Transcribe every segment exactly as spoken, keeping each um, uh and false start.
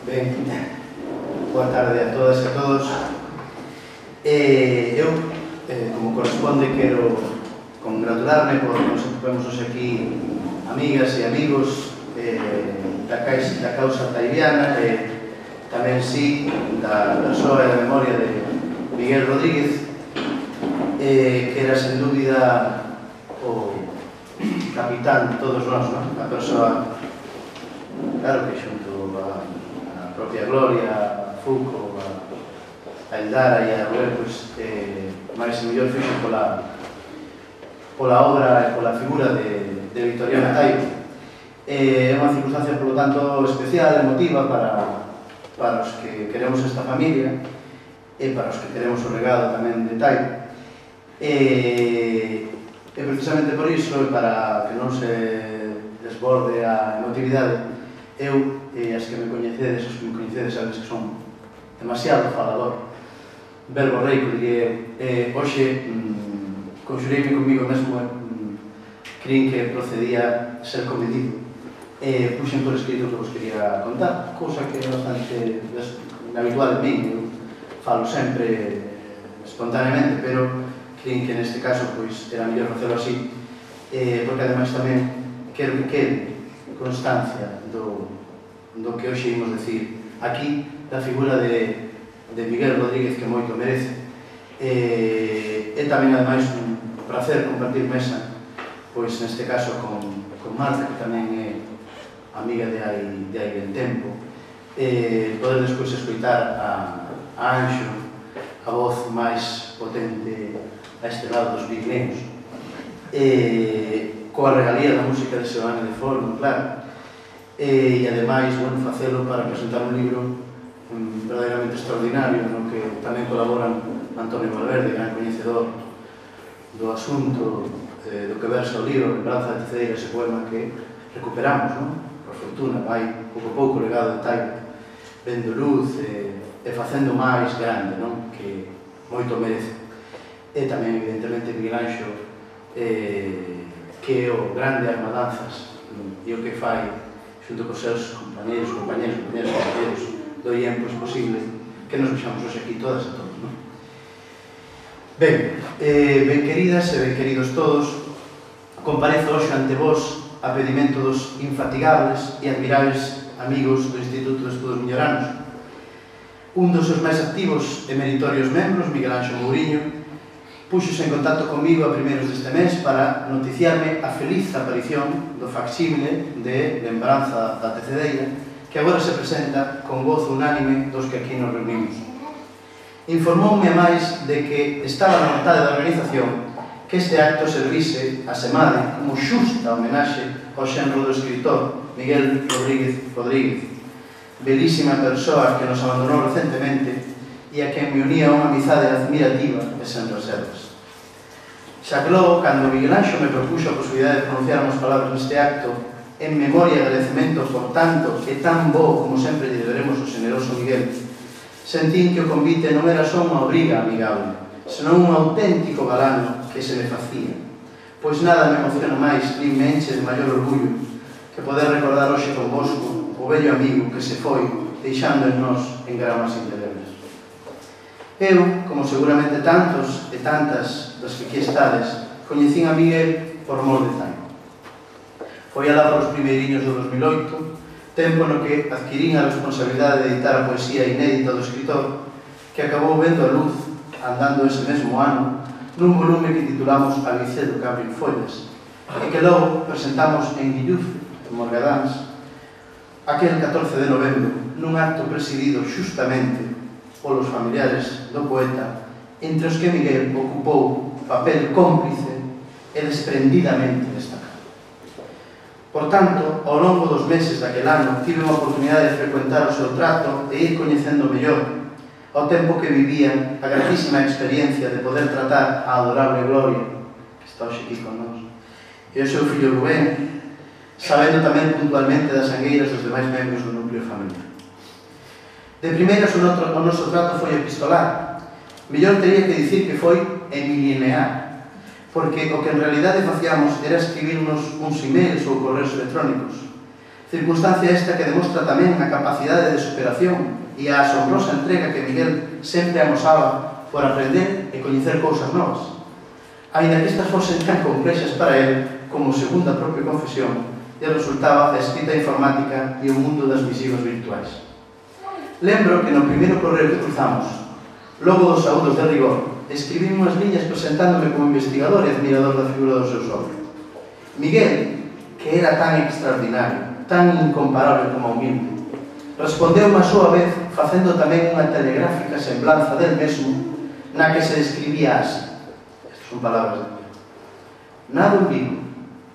Ben, boa tarde a todas e a todos. Eh, eu, eh, como corresponde, quero congratularme por nos atopemos hoxe aquí amigas e amigos eh, da, caixa, da causa taibiana e tamén sí da persoa e da memoria de Miguel Rodríguez, eh, que era sen dúbida o capitán de todos nós, non? A persoa, claro que xunto a a propia Gloria, a Foucault, a Eldara e a Rubén, pois, eh, máis e mellor fixo pola pola obra e pola figura de, de Victoriana Taibo. É unha circunstancia, polo tanto, especial, emotiva para, para os que queremos esta familia e para os que queremos o legado tamén de Taibo. E, e precisamente por iso, e para que non se desborde a emotividade, eu, e as que me coñecedes, os que me coñecedes, sabes que son demasiado falador, verbo reico, diría, e hoxe mm, conxureime comigo mesmo, mm, creín que procedía ser comedido, e puxen por escrito que vos quería contar, cousa que é bastante habitual en min, eu falo sempre espontaneamente, pero creín que neste caso pois era mellor facelo así, eh, porque ademais tamén quero que quede constancia do, do que hoxe imos decir aquí, da figura de, de Miguel Rodríguez, que moito merece. E, e tamén, ademais, un placer compartir mesa, pois neste caso con, con Marta, que tamén é amiga de hai, de hai ben tempo, e poder despois escoitar a, a Anxo, a voz máis potente a este lado dos Pirineos, e coa regalía da música de Seoane de Forno, claro, e ademais, bueno, facelo para presentar un libro um, verdadeiramente extraordinario, no que tamén colaboran Antonio Valverde, gran coñecedor do asunto, eh, do que versa o libro Lembranza de Teceira, ese poema que recuperamos, non? Por fortuna, vai pouco a pouco legado de Taibo, vendo luz e, e facendo máis grande, non? Que moito merece. E tamén, evidentemente, Miguel Anxo, eh, que é o grande armadanzas e o que fai xunto cos seus compañeros, compañeros, compañeros, compañeros do I E M, pois posible que nos vexamos hoxe aquí todas e todos, non? Ben, eh, ben queridas e ben queridos todos, comparezo hoxe ante vos a pedimento dos infatigables e admirables amigos do Instituto de Estudos Milloranos. Un dos seus máis activos e meritorios membros, Miguel Anxo Mouriño, puxose en contacto comigo a primeiros deste mes para noticiarme a feliz aparición do facsímile de Lembranza da Tecedeira, que agora se presenta con gozo unánime dos que aquí nos reunimos. Informoume a máis de que estaba na vontade da organización que este acto servise a semade como xusta homenaxe ao xenro do escritor Miguel Rodríguez Rodríguez, belísima persoa que nos abandonou recentemente e a quen me unía unha amizade admirativa e sen reservas. Xa que logo, cando Miguel Anxo me propuxo a posibilidade de pronunciar unhas palabras neste acto, en memoria e agradecemento por tanto e tan bo como sempre lle deberemos ao generoso Miguel, sentín que o convite non era só unha obriga amigable, senón un auténtico galano que se me facía, pois nada me emociona máis nin me enche de maior orgullo que poder recordar hoxe convosco o vello amigo que se foi deixando en nós en gramas indelebles. Eu, como seguramente tantos e tantas das que aquí estades, coñecín a Miguel por mor de Taibo. Foi alá por os primeiriños do dos mil oito, tempo no que adquirín a responsabilidade de editar a poesía inédita do escritor, que acabou vendo a luz, andando ese mesmo ano, nun volume que titulamos Alicedo que abre follas, e que logo presentamos en Guilluz, en Morgadáns, aquel catorce de novembro, nun acto presidido xustamente polos familiares do poeta, entre os que Miguel ocupou papel cómplice e desprendidamente destacado. Por tanto, ao longo dos meses daquel ano, tive unha oportunidade de frecuentar o seu trato e ir coñecendo mellor, ao tempo que vivía a gratísima experiencia de poder tratar a adorable Gloria, que está hoxe aquí con nós, e o seu fillo Rubén, sabendo tamén puntualmente das sangueiras dos demais membros do núcleo familiar. De primeiras, o noso trato foi epistolar. Mellor teria que dicir que foi emilinear, porque o que en realidade facíamos era escribirnos uns emails ou correos electrónicos, Circunstancia esta que demostra tamén a capacidade de superación e a asombrosa entrega que Miguel sempre amosaba por aprender e coñecer cousas novas. Ainda que estas fosen tan complexas para él, como segundo a propia confesión, lle resultaba a escrita informática e o mundo das visivas virtuais. Lembro que no primeiro correo que cruzamos, logo dos saúdos de rigor, escribí unhas liñas presentándome como investigador e admirador da figura do seu sogro. Miguel, que era tan extraordinario, tan incomparable como humilde, respondeu a súa vez facendo tamén unha telegráfica semblanza del mesmo na que se describía así. Estas son palabras de Miguel. Nado en Vigo,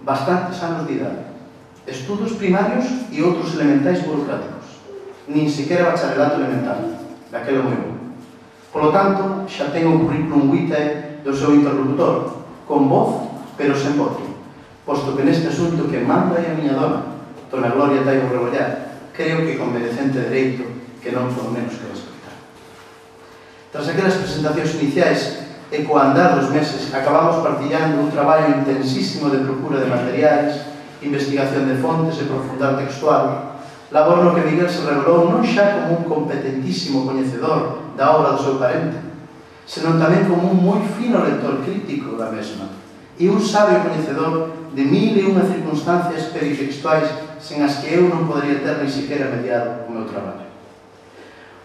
bastantes anos de idade, estudos primarios e outros elementais burocráticos, nin siquiera bacharelato elemental, daquelo moi bom. Por lo tanto, xa ten o currículum vitae do seu interlocutor, con voz, pero sen voto, posto que neste asunto que manda é a miña dona, Dona Gloria Taibo Rebollar, creo que con merecente dereito que non por menos que respectar. Tras aquelas presentacións iniciais e co andar dos meses acabamos partillando un traballo intensísimo de procura de materiais, investigación de fontes e profundar textual, labor no que Miguel se revelou non xa como un competentísimo coñecedor da obra do seu parente, senón tamén como un moi fino lector crítico da mesma e un sabio coñecedor de mil e unha circunstancias peritextuais sen as que eu non podría ter ni siquiera mediado o meu traballo.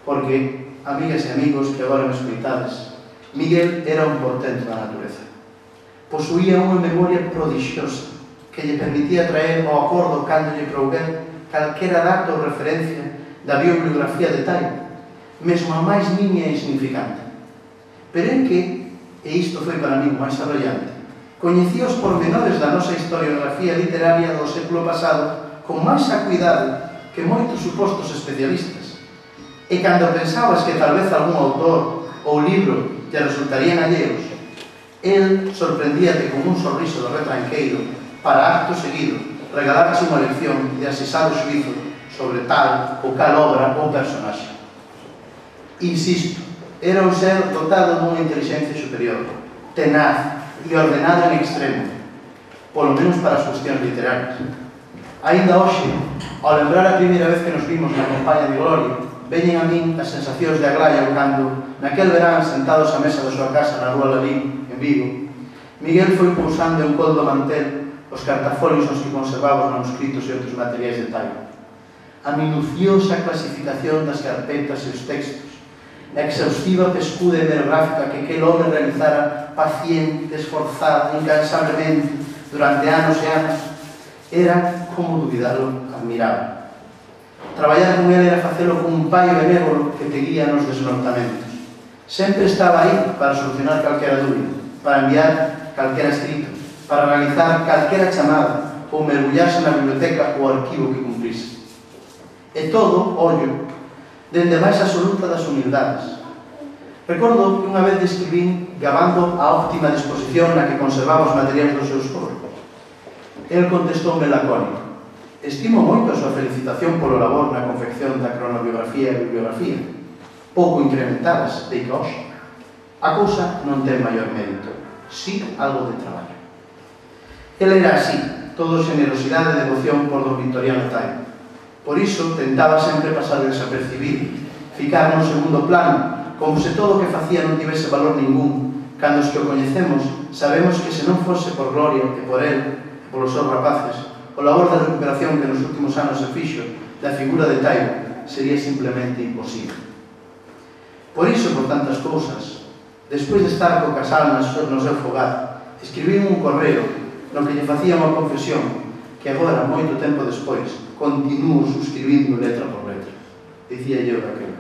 Porque, amigas e amigos que agora me escoitades, Miguel era un portento da natureza. Posuía unha memoria prodigiosa que lle permitía traer ao acordo cando lle prouver calquera dato ou referencia da biobiografía de Taibo, mesmo a máis niña e insignificante. Pero é que, e isto foi para mí o máis arrollante, coñecía os pormenores da nosa historiografía literaria do século pasado con máis acuidado que moitos supostos especialistas. E cando pensabas que tal vez algún autor ou libro te resultarían alleos, el sorprendíate con un sorriso de retranqueiro para acto seguido regalarse unha lección de asesado xuizo sobre tal ou cal obra ou personaxe. Insisto, era un ser dotado dunha inteligencia superior, tenaz e ordenado en extremo, polo menos para as cuestións literarias. Ainda hoxe, ao lembrar a primeira vez que nos vimos na compañía de Gloria, veñen a min as sensacións de agraio cando, naquel verán, sentados á mesa da súa casa na rúa Lalín, en Vigo, Miguel foi pousando en col do mantel os cartafolios nos que conservaba os manuscritos e outros materiais de Taibo. A minuciosa clasificación das carpetas e os textos, a exhaustiva pescuda hemerográfica que aquel home realizara paciente, esforzado, incansablemente, durante anos e anos, era, como duvidalo, admirable. Traballar con ele era facelo con un pai benévolo que te guía nos desnortamentos. Sempre estaba aí para solucionar calquera dúbida, para enviar calquera escrito, para realizar calquera chamada ou mergullarse na biblioteca ou arquivo que cumplise. E todo, ollo, dende a máis absoluta das humildades. Recordo que unha vez describín gabando a óptima disposición na que conservaba os materiais do seu esforzo. El contestoume lacónico: estimo moito a súa felicitación polo labor na confección da cronobiografía e bibliografía, pouco incrementadas, de que hoxe. A cousa non ten maior mérito, si algo de traballo. El era así, todo generosidade e devoción por don Victoriano Taibo. Por iso tentaba sempre pasar desapercibido, ficar no segundo plano, como se todo o que facía non tivese valor ningún, cando os que o coñecemos sabemos que se non fose por Gloria e por el, polos seus rapaces, o labor de recuperación que nos últimos anos se fixo da figura de Taibo sería simplemente imposible. Por iso, por tantas cousas, despois de estar co casal no seu fogar, escribí un correo no que lle facía unha confesión que agora, moito tempo despois, continuo suscribindo letra por letra. Dicía eu daquela: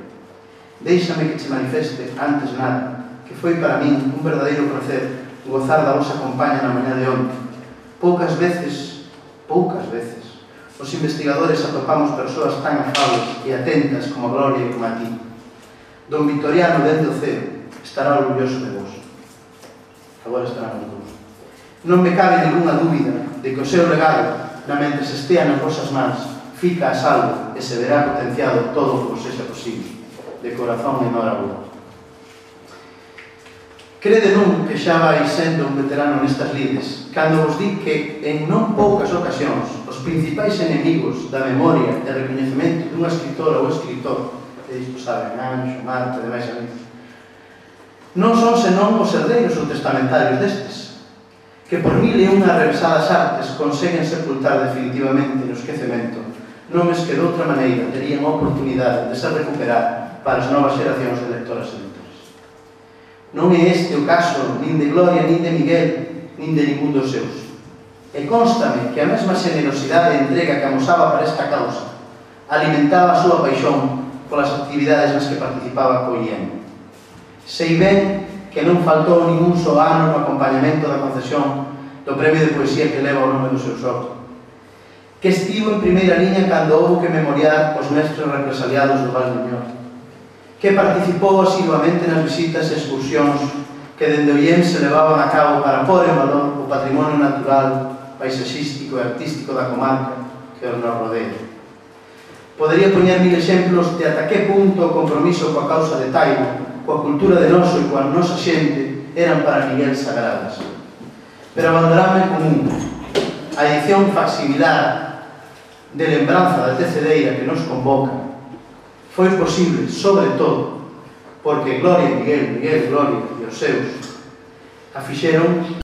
déixame que che manifeste, antes nada, que foi para min un verdadeiro placer gozar da vosa compañía na mañá de onte. Poucas veces, poucas veces, os investigadores atopamos persoas tan afables e atentas como a Gloria e como a ti. Don Victoriano, dende o ceo, estará orgulloso de vos. Agora estará nos dous. Non me cabe ninguna dúbida de que o seu legado, na mentres estea nas vosas mans, fica a salvo e se verá potenciado todo o que vos sexa posible. De corazón enhorabuena. Crede non que xa vai sendo un veterano nestas lides, cando vos di que en non poucas ocasións os principais enemigos da memoria e recoñecemento dunha escritora ou escritor, que isto saben, Anxo, Marta e demais amigos, non son senón os herdeiros ou testamentarios destes, que por mil e unha revesadas artes conseguen sepultar definitivamente no esquecemento nomes que de outra maneira terían a oportunidade de se recuperar para as novas xeracións de lectoras e lectores. Non é este o caso nin de Gloria, nin de Miguel, nin de ningún dos seus. E constame que a mesma xenerosidade e entrega que amosaba para esta causa alimentaba a súa paixón polas actividades nas que participaba co I E M. Sei ben que non faltou ningún só ano no acompañamento da concesión do premio de poesía que leva o nome do seu socio, que estivo en primeira liña cando houve que memoriar os mestres represaliados do Val de Ñor, que participou asiduamente nas visitas e excursións que dende o I E M se levaban a cabo para pôr en valor o patrimonio natural, paisaxístico e artístico da comarca que nos rodea. Podería poñer mil exemplos de ata que punto o compromiso coa causa de Taibo, coa cultura de noso e coa nosa xente eran para Miguel sagradas. Pero abandonarme común, a edición facsimilar de lembranza da tecedeira que nos convoca foi posible, sobre todo, porque Gloria, Miguel, Miguel, Gloria e os seus a fixeron